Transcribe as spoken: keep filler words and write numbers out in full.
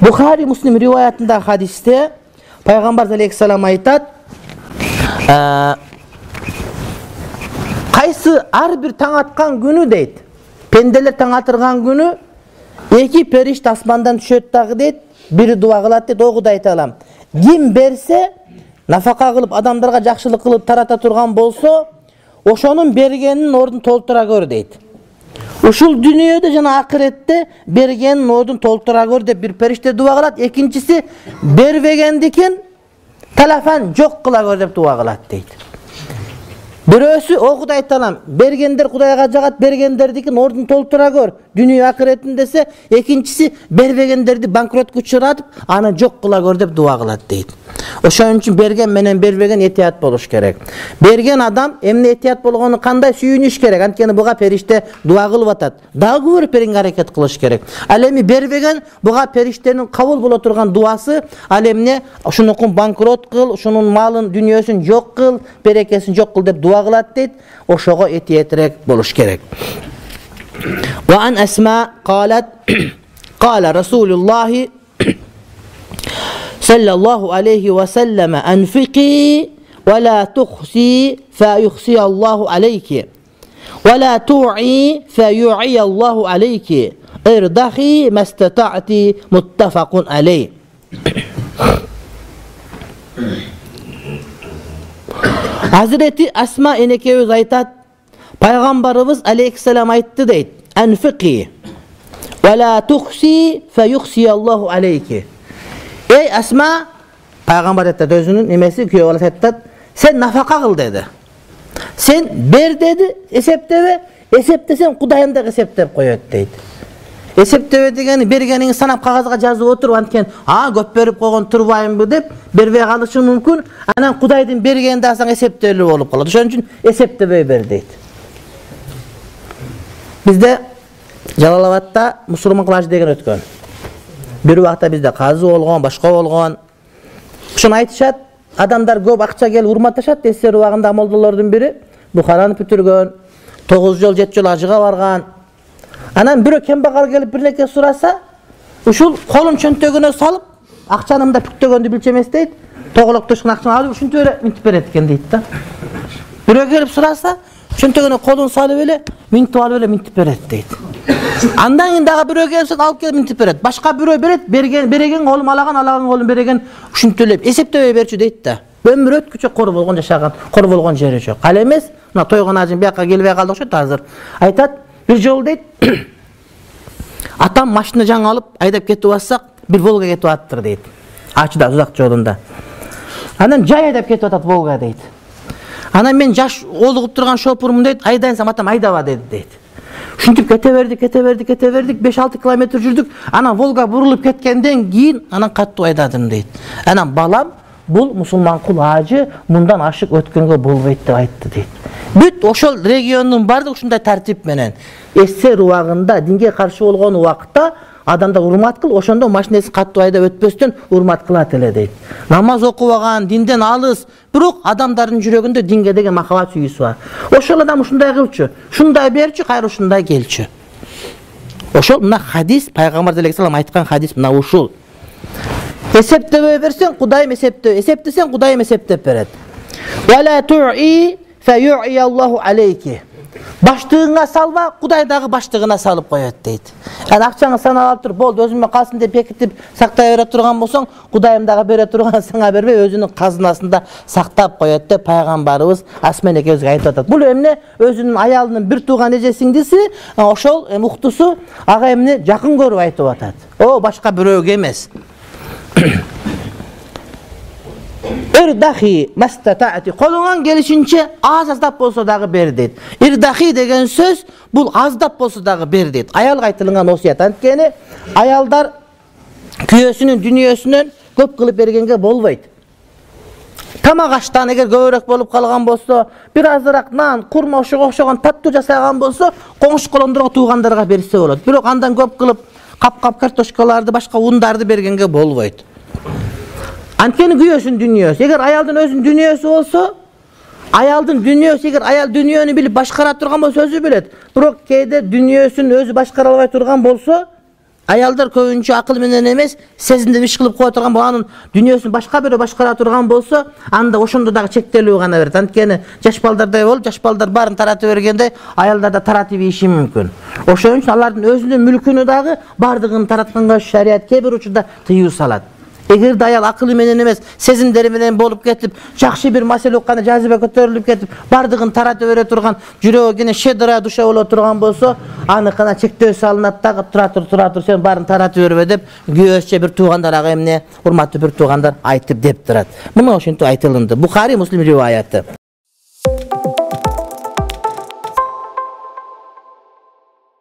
Бухари Муслим риваятында хадисте пайгамбар алейхиссалам айтат: кайсы ар бир таң аткан күнү дейт, пенделер таң атырган күнү эки периште асмандан түшөт дагы дейт, бири дуа кылат дейт: о Кудай таалам, ким берсе, нафака кылып адамдарга жакшылык кылып тарата турган болсо, ошонун бергенин ордун толтура көр дейт. Ушул дүйнөдө жана акыретте бергенин ордун толтура көр деп бир периште дуа кылат. Экинчиси бербегендикин талафан жок кыла көр деп дуа кылат дейт. Бирөөсү: о Кудай таалам, бергендер Кудайга жагат, бергендердикин ордун толтура көр дүйнө акыретін десе, экинчиси бербегендерди банкротко учуратып, аны жок кыла көр деп дуа кылат дейт. Ошон үчүн берген менен бербеген этият болуш керек. Берген адам эмне этият болгону кандай сүйүнүш керек. Анткени буга периште дуа кылып атат. Дагы көбүрөөк беренге аракет кылыш керек. Ал эми бербеген буга периштенин кабыл боло турган дуасы: ал эмне, ушунукун банкрот кыл, ушунун малын, дүйнөсүн жок кыл, берекесин жок кыл деп дуа кылат дейт. Ошого этиятырээк болуш керек. Ва ан Асма قالت قال رسول الله صلى الله عليه وسلم: أنفقي ولا تخسي فيخسي الله عليك ولا توعي فيوعي الله عليك ارضخي ما استطعت متفق عليه. Hazreti Asma enekebиз айтат: пайгамбарыбыз алейхиссалам айтты дейт: Анфиqi ва ла тухси фаюхси Аллаху алейки. Ey Asma, пайгамбар айтат, өзүнүн немеси күйөө баласы айтат: сен нафака кыл деди. Сен бер деди, эсептебе, эсептесең Кудайым да эсептеп коет дейт. Эсептебе дегени бергениңди санап кагазга жазып отуруп, анткени а көп берип койгон турбаймынбы деп бербей калышы мүмкүн. Анан Кудайдын бергенин да алсаң эсептелүү болуп калат. Ошон үчүн эсептебей бер дейт. Бизде Жалалабадта мусулман клаж деген өткөн. Бир убакта бизде казы болгон, башка болгон. Ушуну айтышат, адамдар көп акча келип урматташат. Эсер убагында молдолордун бири Бухараны бүтүргөн, тогуз жол жети жол ажыга барган. Анан бирөө кембагал келип бирлеке сураса, ушул колун чөнтөгүнө салып, акчаны да бүктөгөндү билчү эмес дейт. Тоголоктошкон акчаны алып ушинтип эле минтип берет экен дейт да. Бирөө келип сураса, чөнтөгүнө колун салып эле минтип алып эле минтип берет дейт. Андан кийин дагы бирөө келип алып келип минтип берет. Башка бирөө берет, берген береген колун алаган, алаган колун береген, ушинтип эле эсептебей берчү дейт да. Өмүр өткүчө кор болгон жашаган, кор болгон жери жок. Ал эмес, мына тойгон ажым бияка келбей калды окшойт азыр. Айтат, бир жолу дейт, атам машина жаңы алып айдап кетип атсак, бир Волга кетип аттыр дейт. Ачыда узак жолунда. Анан жай айдап кетип атат Волга дейт. Анан мен жаш олугуп турган шопурмун дейт, айдайсам атам айдаба деди дейт. Ушинтип кете бердик, кете бердик, кете бердик, беш алты километр жүрдүк. Анан Волга бурулуп кеткенден кийин анан каттуу айдадым дейт. Анан балам, бул мусулман кул ажы мындан ашык өткөнгө болбойт деп айтты дейт. Бүт ошол региондун баардыгы ушундай тартип менен эсер убагында, динге каршы болгон убакта адамдар урмат кыл, ошондо машинеси каттуу айдап өтпөстөн урмат кылат эле дейт. Намаз окубаган, динден алыс, бирок адамдардын жүрөгүндө динге деген махабат сүйүүсү бар. Ошол адам ушундай кылчу, ушундай берчү, кайра ушундай келчү. Ошол мына хадис, пайгамбар алейхиссалам айткан хадис мына ушул. Эсептебей берсең, Кудайым эсептеп, эсептесең Кудайым эсептеп берет. Ва ла ту'i фа ю'i Аллаху алейки. Баштыгыңа салба, Кудай дагы баштыгына салып коет дейт. Аны акчаңы санап алып туруп, болду өзүмө калсын деп бекитип сактай бере турган болсоң, Кудайым дагы бере турган сага бербей, өзүнүн казынасында сактап коет деп пайгамбарыбыз Асма энекебизге айтып атат. Бул эмне өзүнүн аялынын бир тууган эже сиңдиси, ошол муктусу ага эмне жакын көрүп айтып атат. О, башка бирөөгө эмес. Ирдахи мастатаати, колуңан келишинче аз аздап болсо дагы бер дейт. Ирдахи деген сөз бул аздап болсо дагы бер дейт. Аялга айтылган осуят. Анткени аялдар күйөөсүнүн дүнүйөсүнөн көп кылып бергенге болбойт. Тамак аштан эгер көбүрөөк болуп калган болсо, бир азыраак нан, курма ошого окшогон таттуу жасаган болсо, коңшу колондорго, туугандарга берсе болот. Бирок андан көп кылып кап-кап картошкаларды, башка ундарды бергенге болбойт. Анткени күйөөсүн дүнүйөсү. Эгер аялдын өзүнүн дүнүйөсү болсо, Аялдын дүйнөсү, эгер аял дүйнөнү билип башкара турган болсо өзү билет. Бирок кээде дүйнөсүн өзү башкара албай турган болсо, аялдар көбүнчө акыл менен эмес, сезимдеп иш кылып кое турган, анын дүйнөсүн башка бирөө башкара турган болсо, анда ошондо дагы чектелүү гана берет. Анткени жаш балдардай болуп, жаш балдар баарын таратып бергенде, аялдар да таратып ийиши мүмкүн. Ошон үчүн алардын өзүнүн мүлкүнү дагы бардыгын таратканга шарият кээ бир учурда тыюу салат. Эгерде аял акылы менен эмес, сезимдери менен болуп кетип, жакшы бир маселе укканда жазыба көтөрүлүп кетип, бардыгын таратып бере турган, жүрөгү кene щедрая душа боло турган болсо, аныкына чектөө салынат дагы, тура тур, тура тур, сен баарын таратып бербе деп, күйөөсү бир туугандарга эмне, урматтуу бир туугандар айтып деп турат. Мына ошентип айтылынды. Бухари, Муслим риваяты.